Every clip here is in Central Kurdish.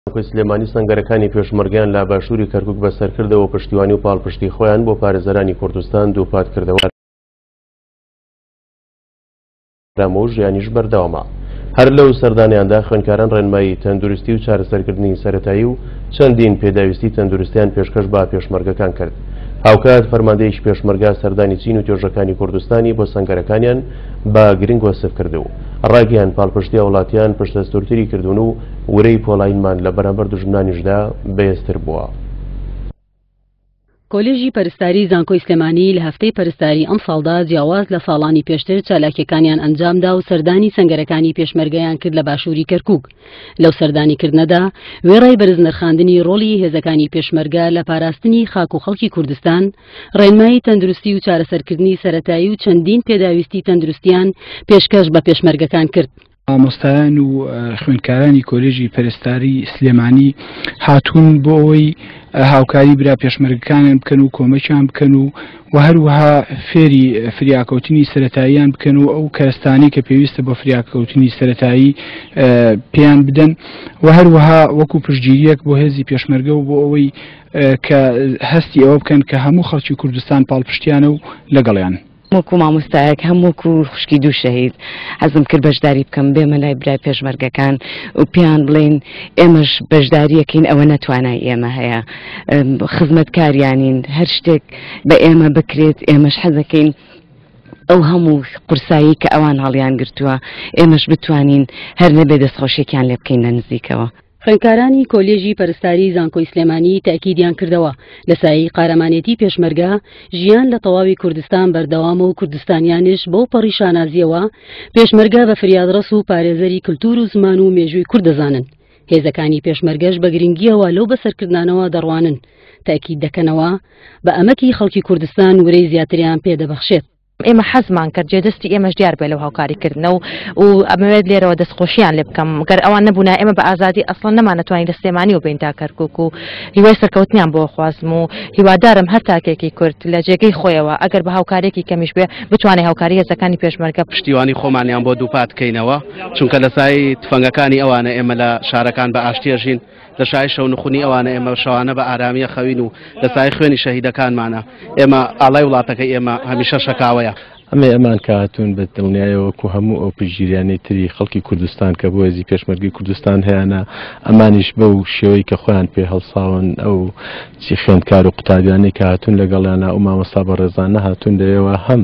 زانکۆی سلێمانی سەنگەرەکانی پێشمەرگەیان لە باشووری کەرکوک بەسەرکردەوە و پشتیوانی و پاڵپشتی خۆیان بۆ پارێزەرانی کوردستان دووپات کردەوە. ئارامە و ژیانیش بەردەوامە. هەر لەو سەردانەیاندا خوێندکاران ڕێنمایی تەندروستی و چارەسەرکردنی سەرەتایی و چەندین پێداویستی تەندروستیان پێشکەش بە پێشمەرگەکان کرد. هاوکات فەرماندەیەکی پێشمەرگە سەردانی چین و توێژەکانی کوردستانی بۆ سەنگەرەکانیان بە گرنگ وەسف کرد و ڕایگەیاند پاڵپشتی هاوڵاتیان پشتئەستوورتری کردوون و ورەی پۆڵایینمان لە بەرامبەر دوژمنانیشدا بەهێزتر بووە. کۆلێژی پەرستاری زانکۆی سلێمانی لە هەفتەی پەرستاری ئەمساڵدا جیاواز لە ساڵانی پێشتر چالاکیەکانیان ئەنجامدا و سەردانی سەنگەرەکانی پێشمەرگەیان کرد لە باشووری کەرکوک. لەو سەردانیکردنەدا وێڕای بەرزنرخاندنی ڕۆڵی هێزەکانی پێشمەرگە لە پاراستنی خاک و خەڵکی کوردستان، ڕێنمایی تەندروستی و چارەسەرکردنی سەرەتایی و چەندین پێداویستی تەندروستیان پێشکەش بە پێشمەرگەکان کرد. مامۆستایان و خوێندکارانی کۆلێژی پەرستاری سلێمانی هاتوون بۆ ئەوەی هاوکاری برا پێشمەرگەکانیان بکەن و کۆمەکیان بکەن و و هەروەها فێری فریاکەوتنی سەتاییان بکەن و ئەو کەرستانی کە پێویستە بۆ فریاکەوتنی سەتایی پێیان بدەن و هەروەها وەکو پشتگیریەک بۆ هێزی پێشمەرگە و بۆ ئەوەی کە هەستی ئەوە بکەن کە هەموو خەڵکی کوردستان پاڵپشتیانە و لەگەڵیان. وەکو مامۆستایەک هەم وەکو خوشکی دوو شەهید حەزم کرد بەشداری بکەم بێمە لای برای پێشمەرگەکان و پێیان بڵێین ئێمەش بەشداریەکەین ئەوە نەتوانای ئێمە هەیە خزمەتکاریانین هەر شتێک بە ئێمە بکرێت ئێمەش حەزەکەین ئەو هەموو قورسایی کە ئەوان هەڵیان گرتووە ئێمەش بتوانین هەر نەبێ دەستخۆشیێکیان لێ بکەین لە نزیکەوە. خوێندکارانی کۆلێژی پەرستاری زانکۆی سلێمانی تەئکیدیان کردەوە، لە سایەی قارەمانێتی پێشمەرگە، ژیان لە تەواوی کوردستان بەردەوامە و کوردستانیانش بەو پەڕی شانازییەوە پێشمەرگە بە فریادڕەس و پارێزەری کلتور و زمان و مێژووی کورد دەزانن. هێزەکانی پێشمەرگەش بە گرنگییەوە لەو بەسەرکردنانەوە دەڕوانن، تەئکید دەکەنەوە، بە ئەمەکی خەڵکی کوردستان ورەی زیاتریان پێدەبەخشێت. ئێمە حەزمان کرد جێدەستی ئێمەش دیار بێ لەو هاوکاری کردنە و و ئەمەوێت لێرەوە دەستخۆشیان لێ بکەم گەر ئەوان نەبوونا ئێمە بە ئازادی ئەسڵەن نەمانەتوانی لە سلێمانی و بین تا کەرکوک و هیوای سەرکەوتنیان بۆ خوازم و هیوادارم هەر تاکێکی کورد لە جێگەی خۆیەوە ئەگەر بە هاوکارێکی کەمیش بێ بتوانێت هاوکاری هێزەکانی پێشمەرگە پشتیوانی خۆمانیان بۆ دووپات کەینەوە چونکە لە سای تفەنگەکانی ئەوانە ئێمە لە شارەکان بە ئاشتیەژین لە شای شەونخونی ئەوانە ئێمە شەوانە بە ئارامیە خەوین و لە سای خوێنی شەهیدەکانمانە ئێمە ئاڵای وڵاتەکەی ئێمە هەمیشە شەکاوەیە. ئەمەی ئەمان کە هاتوون بە دڵنیایەوە وەکو هەموو ئەو پشتگیریانەی تری خەڵکی کوردستان کە بۆ هێزی پێشمەرگەی کوردستان هەیانە ئەمانیش بەو شێوەی کە خۆیان پێ هەڵساون ئەو چی خوێندکار و قوتابیانەی کە هاتوون لەگەڵیانە ئەو مامۆستا بەڕێزانە هاتوون لەوێوە هەم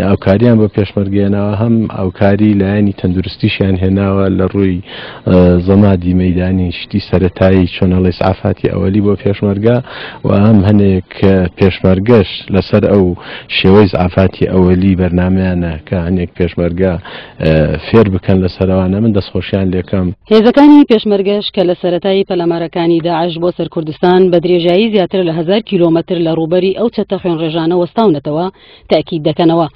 ئەوکاریان بۆ پێشمەرگە هێناوە هەم ئەوکاری لایەنی تەندروستیشیان هێناوە لە ڕووی زەمادی مەیدانی شتی سەرەتایی چۆن ئەڵێ ئیسعافاتی ئەوەلی بۆ پێشمەرگە و هەم هەنێک پێشمەرگەش لەسەر ئەو شێوەی ئیسعافاتی ئەوەلی بەرنامەیانە کە هەنێک پێشمەرگە فێر بکەن لەسەرەوانە من دەستخۆشیان لێکەم. هێزەکانی پێشمەرگەش کە لە سەرەتای پەلامارەکانی داعش بۆ سەر کوردستان بە درێژایی زیاتر لە هەزار کیلۆمەتر لە ڕووبەری ئەو چەتە خوێنڕێژانە وەستاونەتەوە، تەئکید دەکەنەوە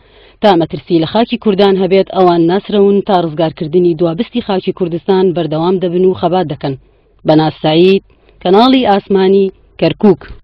تا مەترسی لە خاکی کوردان هەبێت ئەوان ناسرەون تا ڕزگارکردنی دوابستی خاکی کوردستان بەردەوام دەبن و خەبات دەکەن. بەناز سەعید، کەناڵی ئاسمانی، کەرکووک.